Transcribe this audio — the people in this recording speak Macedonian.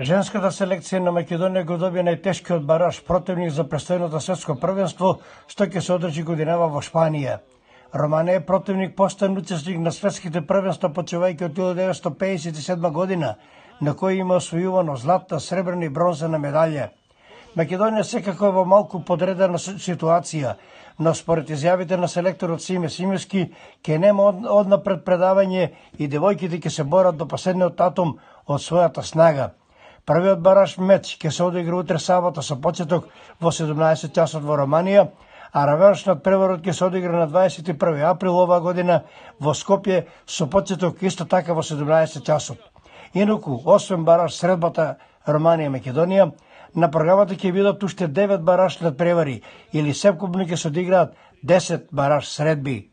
Женската селекција на Македонија го доби најтешкиот бараж противник за престојното светско првенство, што ќе се одржи годинава во Шпанија. Романија е противник постојан учесник на светските првенства почивајќи од 1957 година, на кој има освојувано златна, сребрена и бронзена медалја. Македонија секако е во малку подредена ситуација, но според изјавите на селекторот Симе Симевски, ќе нема однапред предавање и девојките ќе се борат до последниот татум од својата снага. Првиот бараж меч ќе се одигра утре сабота со почеток во 17 часот во Романија, а реваншниот преворот ќе се одигра на 21 април оваа година во Скопје со почеток исто така во 17 часот. Инаку, освен бараж средбата Романија-Македонија, на програмата ќе бидат уште 9 бараж надпревари или секупно ќе се одиграат 10 бараж средби.